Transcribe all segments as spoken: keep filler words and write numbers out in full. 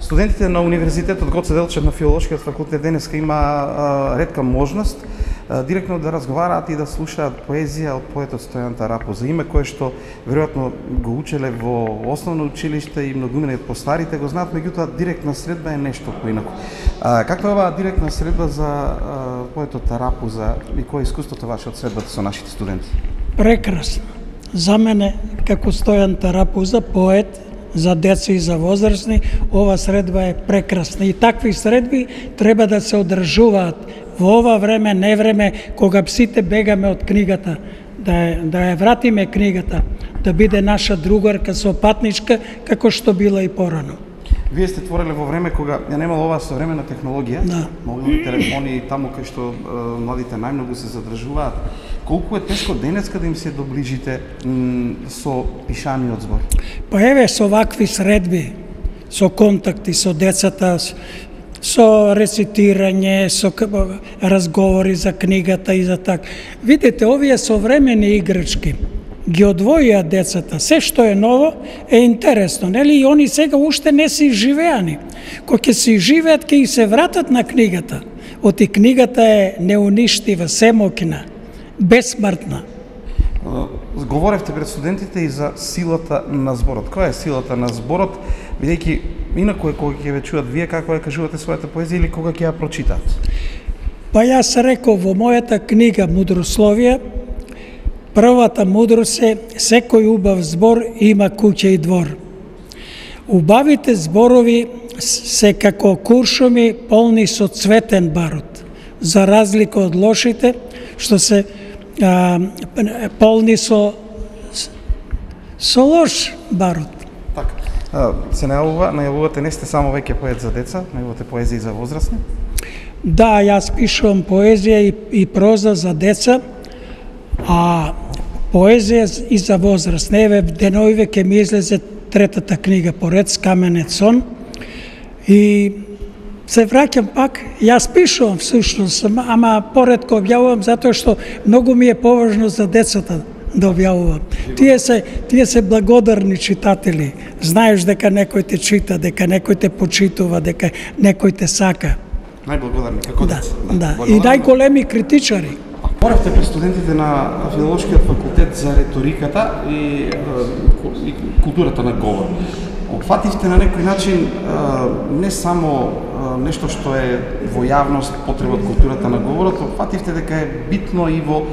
Студентите на Универзитетот Гоце Делчев на Филолошкиот факултет денеска има а, ретка можност а, директно да разговараат и да слушаат поезија од поетот Стојан Тарапуза. Име кое што веројатно го учеле во основно училиште и многумина од постарите го знаат, меѓутоа директна средба е нешто поинаку. А, каква е оваа директна средба за а, поетот Тарапуза и кој е искуството ваше од средбата со нашите студенти? Прекрасно. За мене, како Стојан Тарапуза, поет за деца и за возрастни, ова средба е прекрасна. И такви средби треба да се одржуваат во ова време, не време, кога сите бегаме од книгата, да ја, да ја вратиме книгата, да биде наша другарка, сопатничка, како што била и порано. Вие сте твореле во време кога ја немало оваа современа технологија, да. мобилни телефони, таму кај што е, младите најмногу се задржуваат. Колку е тешко денеска да им се доближите со пишаниот збор? Па еве со вакви средби, со контакти со децата, со рецитирање, со разговори за книгата и за так. Видите, овие современи играчки ги одвоија децата. Се што е ново е интересно, нели? И они сега уште не се живеани. Кога ќе се живеат, ќе и се вратат на книгата. Оти книгата е неуништива, семокина, бесмртна. Говоревте пред студентите и за силата на зборот. Која е силата на зборот, бидејќи инаку е кога ќе ве чуат вие како ја кажувате својата поезија или кога ќе ја прочитаат? Па јас реков во мојата книга Мудрословие, првата мудрост е секој убав збор има куќа и двор. Убавите зборови се како куршуми полни со цветен барут, за разлика од лошите што се а, полни со со лош барут. Така. А, се најавува, најавувате не сте само веќе поет за деца, најавувате поезија за возрастни? Да, јас пишувам поезија и, и проза за деца, а поезија и за возраст. Еве деновиве ќе ми излезе третата книга поред Скаменет сон и се враќам пак, јас пишувам всушност, ама поредко објавувам затоа што многу ми е поважно за децата да објавувам. Тие се тие се благодарни читатели. Знаеш дека некој те чита, дека некој те почитува, дека некој те сака. Најблагодарни како да, деца. Да, и најголеми критичари. Говоревте пред студентите на Филолошкиот факултет за реториката и, и културата на говор. Опфативте на некој начин не само нешто што е во јавност, потреба од културата на говорот, опфативте дека е битно и во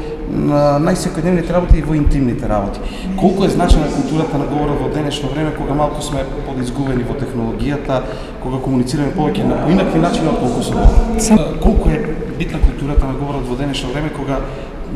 најсекојдневните работи и во интимните работи. Колку е значена културата на говорот во денешно време, кога малку сме подизгубени во технологијата, кога комуницираме повеќе на поинакви начини од колку со говор. Колку е битна културата на говорот во денешно време, кога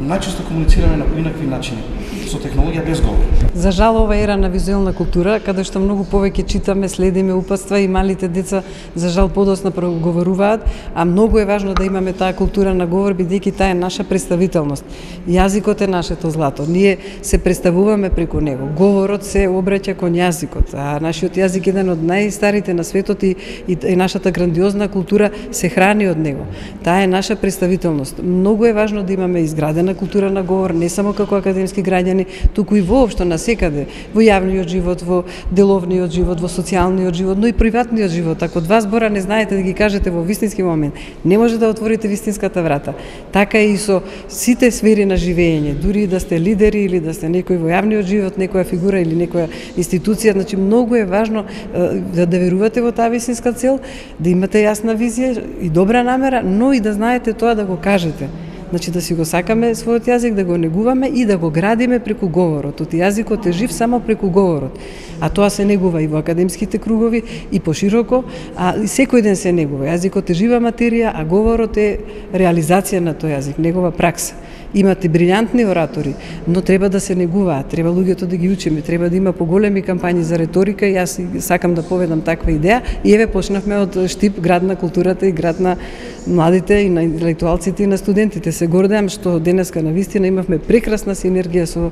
најчесто комуницираме на поинакви начини, со технологија без говор. За жал, ова ера на визуелна култура, каде што многу повеќе читаме, следиме упатства и малите деца за жал подоцна проговоруваат, а многу е важно да имаме таа култура на говор, бидејќи таа е наша представителност. Јазикот е нашето злато. Ние се представуваме преку него. Говорот се обраќа кон јазикот, а нашиот јазик е еден од најстарите на светот и, и, и нашата грандиозна култура се храни од него. Таа е наша представителност. Многу е важно да имаме изградена култура на говор, не само како академски граѓани, туку и воопшто насекаде, во јавниот живот, во деловниот живот, во социјалниот живот, но и приватниот живот. Ако два збора не знаете да ги кажете во вистински момент, не може да отворите вистинската врата. Така и со сите сфери на живење, дури да сте лидери или да сте некој во јавниот живот, некоја фигура или некоја институција, значи многу е важно да, да верувате во таа вистинска цел, да имате јасна визија и добра намера, но и да знаете тоа да го кажете. Значи да си го сакаме својот јазик, да го негуваме и да го градиме преку говорот. Оти јазикот е жив само преку говорот. А тоа се негува и во академските кругови и пошироко, а и секој ден се негува. Јазикот е жива материја, а говорот е реализација на тој јазик, негова пракса. Имате брилјантни оратори, но треба да се негуваат, треба луѓето да ги учиме, треба да има поголеми кампањи за реторика и јас сакам да поведам таква идеја. И еве почнавме од Штип, град на културата и град на младите и на интелектуалците и на студентите. Се гордеам што денеска на вистина имавме прекрасна синергија со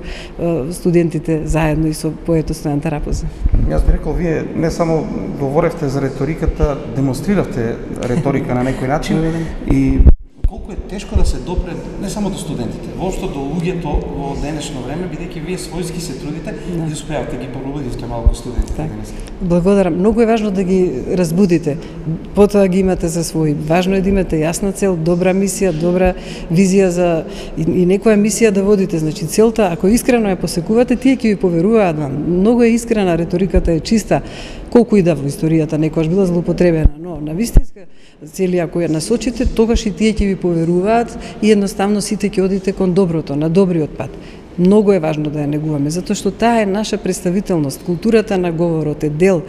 студентите заедно и со поетот Стојан Тарапуза. Јас би рекол, вие не само говоревте за реториката, демонстриравте реторика на некој начин и колку е тешко да се допре не само до студентите, воопшто до луѓето во денешно време, бидејќи вие својски се трудите да. И успеавате ги пробудите малку студентите так. денес. Благодарам. Многу е важно да ги разбудите. Потоа ги имате за своји. Важно е да имате јасна цел, добра мисија, добра визија за и, и некоја мисија да водите. Значи целта, ако искрено ја посекувате, тие ќе ви поверуваат вам. Многу е искрена, реториката е чиста. Колку и да во историјата некојаш била злоупотребена, но на вистинска цели ако ја насочите, тогаш и тие ќе ви поверуваат и едноставно сите ќе одите кон доброто, на добриот пат. Многу е важно да ја негуваме, затоа што таа е наша представителност. Културата на говорот е дел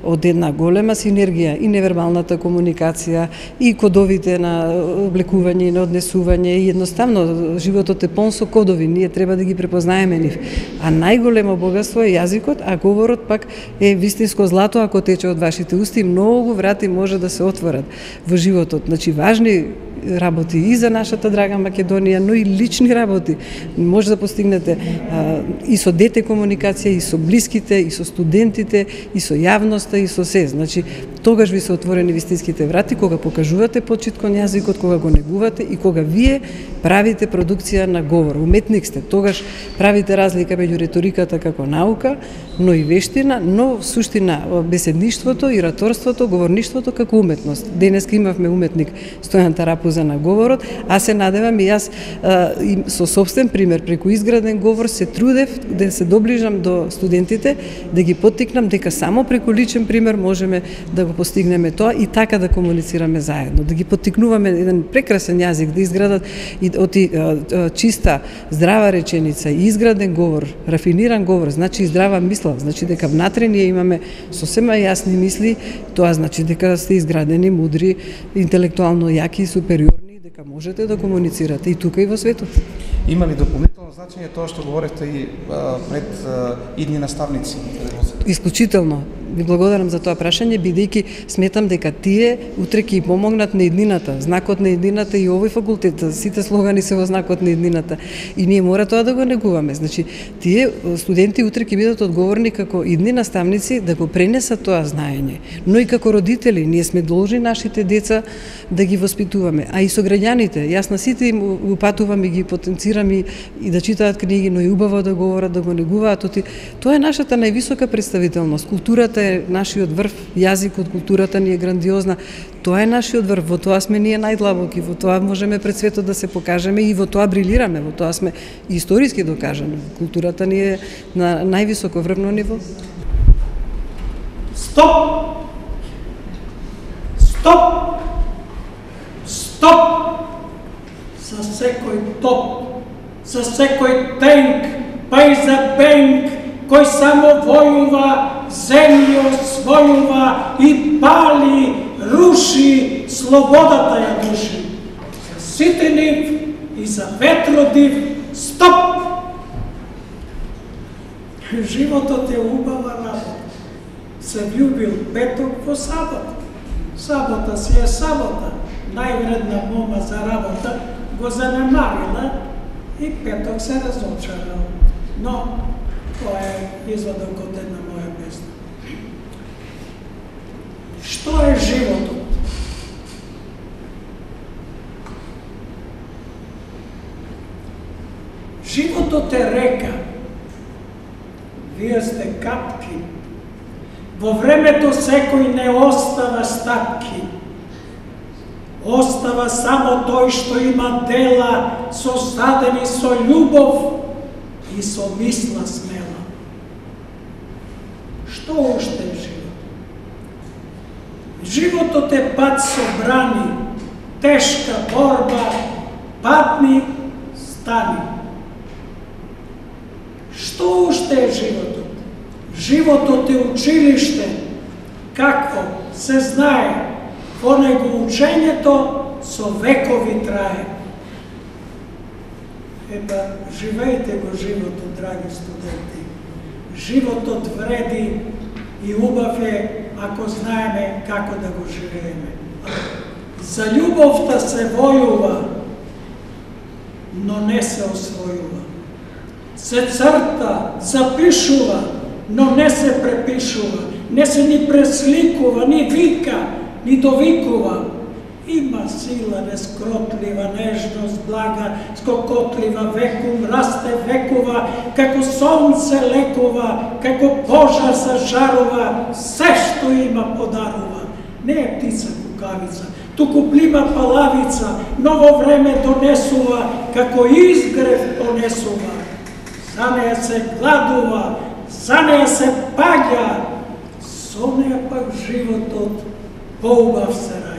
од една голема синергија и невербалната комуникација, и кодовите на облекување и на однесување, и едноставно животот е пон со кодови, ние треба да ги препознаеме нив. А најголемо богатство е јазикот, а говорот пак е вистинско злато ако тече од вашите усти, многу врати може да се отворат во животот. Значи важни работи и за нашата драга Македонија, но и лични работи. Може да постигнете а, и со дете комуникација, и со блиските, и со студентите, и со јавноста, и со се. Значи, тогаш ви се отворени вистинските врати, кога покажувате почит кон јазикот, кога го негувате и кога вие правите продукција на говор. Уметник сте, тогаш правите разлика меѓу реториката како наука, но и вештина, но суштина беседништвото и раторството, говорништвото како уметност. Денеска имавме уметник Стојан Тарапуза на говорот, а се надевам и јас а, и со собствен пример преку изграден говор се трудев да се доближам до студентите, да ги поттикнам дека само преку личен пример можеме да го постигнеме тоа и така да комуницираме заедно, да ги поттикнуваме еден прекрасен јазик, да изградат и од чиста, здрава реченица и изграден говор, рафиниран говор, значи и здрава мисла, значи дека внатре ние имаме сосема јасни мисли, тоа значи дека сте изградени, мудри, интелектуално јаки и супериорни, дека можете да комуницирате и тука и во светот. Има ли дополнително значење тоа што говоревте и а, пред а, идни наставници? Исклучително. Ви благодарам за тоа прашање, бидејќи сметам дека тие утре ќе помогнат на еднината, знакот на еднината и овој факултет, сите слогани се во знакот на еднината. И ние мора тоа да го негуваме. Значи, тие студенти утре ќе бидат одговорни како идни наставници да го пренесат тоа знаење. Но и како родители, ние сме должни нашите деца да ги воспитуваме, а и со граѓаните. Јас на сите им упатувам и ги потенцирам и, и да читаат книги, но и убаво да говорат, да го негуваат. Тоа е нашата највисока представителност. Културата е нашиот врв, јазикот, културата ни е грандиозна. Тоа е нашиот врв, во тоа сме ние најдлабоки, во тоа можеме пред светот да се покажеме и во тоа брилираме, во тоа сме историски докажани. Културата ни е на највисоко врвно ниво. Стоп! Стоп! Стоп! За секој топ, за секој тенк, па и за бенк, кој само војува, земју освојува и пали, руши, слободата ја души. За сите нив и за ветродив, стоп! Животот е убава работа. Се влюбил петок во сабота. Сабота си е сабота. Највредна мома за работа го занемарила и петок се разочарал. Но тоа е извадок од една моја песна. Што е животот? Животот е река. Вие сте капки. Во времето секој не остава стапки. Остава само тој што има дела создадени со љубов и со мисла смела. Што уште е живот? Животот е пат со брани, тешка борба, падни, стани. Што уште е животот? Животот е училиште, какво се знае, во него учењето со векови трае. Епа, живејте го животот, драги студенти. Животот вреди и убав е ако знаеме како да го живееме. За љубовта се војува, но не се освојува. Се црта, запишува, но не се препишува. Не се ни пресликува, ни вика, ни довикува. Има сила нескротлива, нежност, блага, скокотлива, векум, расте векува, како сонце лекува, како пожар зажарува, се што има подарува. Не е птица кукавица, туку плима палавица, ново време донесува, како изгрев понесува. За неја се гладува, за неја се паѓа, со неја пак животот поубав се раѓа.